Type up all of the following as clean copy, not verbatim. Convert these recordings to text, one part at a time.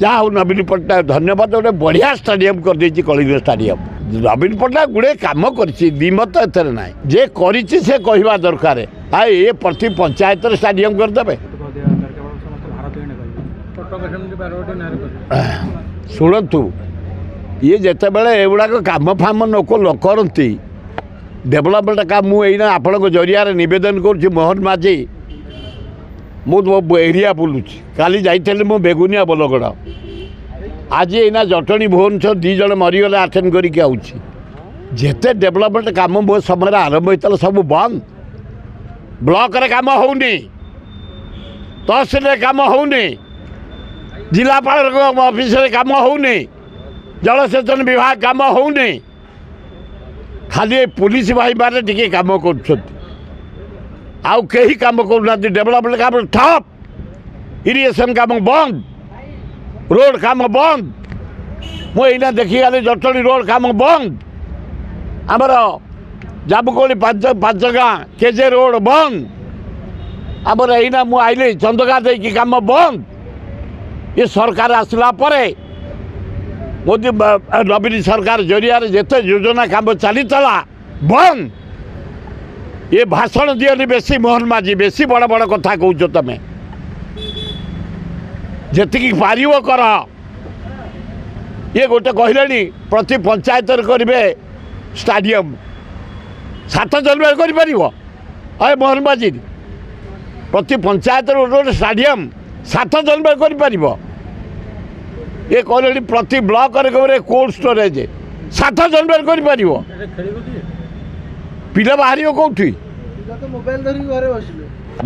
ଯାହା ହଉ ନବୀନ ପଟ୍ଟନାୟକ ଧନ୍ୟବାଦ, ଗୋଟେ ବଢ଼ିଆ ଷ୍ଟାଡିୟମ୍ କରିଦେଇଛି କଳିଙ୍ଗ ଷ୍ଟାଡିୟମ୍। ନବୀନ ପଟ୍ଟନାୟକ ଗୁଡ଼େ କାମ କରିଛି, ଦ୍ୱିମତ ଏଥିରେ ନାହିଁ। ଯେ କରିଛି ସେ କହିବା ଦରକାର। ଆଉ ଏ ପ୍ରତି ପଞ୍ଚାୟତରେ ଷ୍ଟାଡିୟମ୍ କରିଦେବେ। ଶୁଣନ୍ତୁ, ଇଏ ଯେତେବେଳେ ଏଗୁଡ଼ାକ କାମ ଫାମ ଲୋକ ନ କରନ୍ତି, ଡେଭଲପମେଣ୍ଟ କାମ, ମୁଁ ଏଇନା ଆପଣଙ୍କ ଜରିଆରେ ନିବେଦନ କରୁଛି। ମୋହନ ମାଝୀ, ମୁଁ ଏରିଆ ବୁଲୁଛି। କାଲି ଯାଇଥିଲି ମୁଁ ବେଗୁନିଆ ବୋଲଗଡ଼, ଆଜି ଏଇନା ଜଟଣୀ ଭୁବନେଶ୍ୱର 2 ଜଣ ମରିଗଲେ, ଆଟେଣ୍ଡ କରିକି ଆଉଛି। ଯେତେ ଡେଭଲପମେଣ୍ଟ କାମ ମୋ ସମୟରେ ଆରମ୍ଭ ହେଇଥିଲା ସବୁ ବନ୍ଦ। ବ୍ଲକରେ କାମ ହେଉନି, ତହସିଲରେ କାମ ହେଉନି, ଜିଲ୍ଲାପାଳଙ୍କ ଅଫିସରେ କାମ ହେଉନି, ଜଳସେଚନ ବିଭାଗ କାମ ହେଉନି। ଖାଲି ଏ ପୋଲିସ ଭାଇମାନେ ଟିକେ କାମ କରୁଛନ୍ତି, ଆଉ କେହି କାମ କରୁନାହାନ୍ତି। ଡେଭଲପମେଣ୍ଟ କାମ ଠପ୍, ଇରିଗେସନ୍ କାମ ବନ୍ଦ, ରୋଡ଼ କାମ ବନ୍ଦ। ମୁଁ ଏଇନା ଦେଖିଗଲି ଜଟଣୀ ରୋଡ଼ କାମ ବନ୍ଦ, ଆମର ଜାମୁକୋଳି 5 ଗାଁ କେଜେ ରୋଡ଼ ବନ୍ଦ, ଆମର ଏଇନା ମୁଁ ଆଇଲି ଚନ୍ଦକା ଦେଇକି କାମ ବନ୍ଦ। ଏ ସରକାର ଆସିଲା ପରେ ମୋଦି ନବୀନ ସରକାର ଜରିଆରେ ଯେତେ ଯୋଜନା କାମ ଚାଲିଥିଲା ବନ୍ଦ। ଏ ଭାଷଣ ଦିଅନି ବେଶୀ ମୋହନ ମାଝୀ, ବେଶୀ ବଡ଼ ବଡ଼ କଥା କହୁଛ ତମେ। ଯେତିକି ପାରିବ କର। ଇଏ ଗୋଟେ କହିଲେଣି ପ୍ରତି ପଞ୍ଚାୟତରେ କରିବେ ଷ୍ଟାଡିୟମ୍, 7 ଜନ୍ମରେ କରିପାରିବ? ଅଏ ମୋହନ ମାଝୀ, ପ୍ରତି ପଞ୍ଚାୟତରେ ଗୋଟେ ଗୋଟେ ଷ୍ଟାଡିୟମ୍ 7 ଜନ୍ମରେ କରିପାରିବ? ଇଏ କହିଲେଣି ପ୍ରତି ବ୍ଲକରେ କରିବେ କୋଲ୍ଡ ଷ୍ଟୋରେଜ୍, 7 ଜନ୍ମରେ କରିପାରିବ? ପିଲା ବାହାରିବ କେଉଁଠି?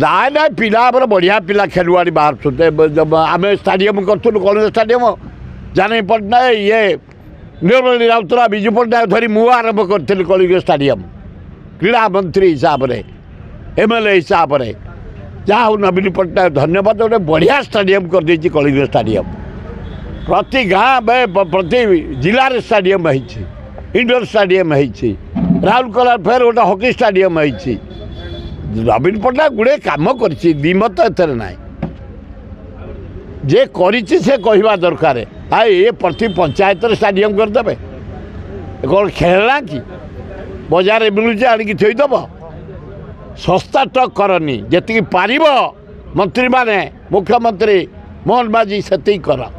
ନାଇଁ ନାଇଁ, ପିଲା ଆମର ବଢ଼ିଆ ପିଲା ଖେଳୁଆଡ଼ି ବାହାରୁଛନ୍ତି। ଆମେ ଷ୍ଟାଡିୟମ୍ କରୁଥିଲୁ, କଳିଙ୍ଗ ଷ୍ଟାଡିୟମ୍, ଜାନକୀ ପଟ୍ଟନାୟକ, ଇଏ ନିର୍ମଳ ରାଉତରା, ବିଜୁ ପଟ୍ଟନାୟକ ଧରି ମୁଁ ଆରମ୍ଭ କରିଥିଲି କଳିଙ୍ଗ ଷ୍ଟାଡିୟମ୍, କ୍ରୀଡ଼ା ମନ୍ତ୍ରୀ ହିସାବରେ, ଏମ୍ ଏଲ୍ ଏ ହିସାବରେ। ଯାହା ହଉ ନବୀନ ପଟ୍ଟନାୟକ ଧନ୍ୟବାଦ, ଗୋଟେ ବଢ଼ିଆ ଷ୍ଟାଡିୟମ୍ କରିଦେଇଛି କଳିଙ୍ଗ ଷ୍ଟାଡିୟମ୍। ପ୍ରତି ଗାଁ, ପ୍ରତି ଜିଲ୍ଲାରେ ଷ୍ଟାଡିୟମ୍ ହେଇଛି, ଇଣ୍ଡୋର ଷ୍ଟାଡିୟମ୍ ହେଇଛି। ରାଉରକେଲା ଫେର ଗୋଟେ ହକି ଷ୍ଟାଡିୟମ୍ ହେଇଛି। ନବୀନ ପଟ୍ଟନାୟକ ଗୁଡ଼େ କାମ କରିଛି, ଦ୍ୱିମତ ଏଥିରେ ନାହିଁ। ଯେ କରିଛି ସେ କହିବା ଦରକାର। ଆଉ ଏ ପ୍ରତି ପଞ୍ଚାୟତରେ ଷ୍ଟାଡିୟମ୍ କରିଦେବେ, କ'ଣ ଖେଳନା କି? ବଜାରରେ ମିଳୁଛି, ଆଣିକି ଥୋଇଦେବ? ଶସ୍ତା ଟକ୍ କରନି, ଯେତିକି ପାରିବ ମନ୍ତ୍ରୀମାନେ, ମୁଖ୍ୟମନ୍ତ୍ରୀ ମୋହନ ମାଝୀ ସେତିକି କର।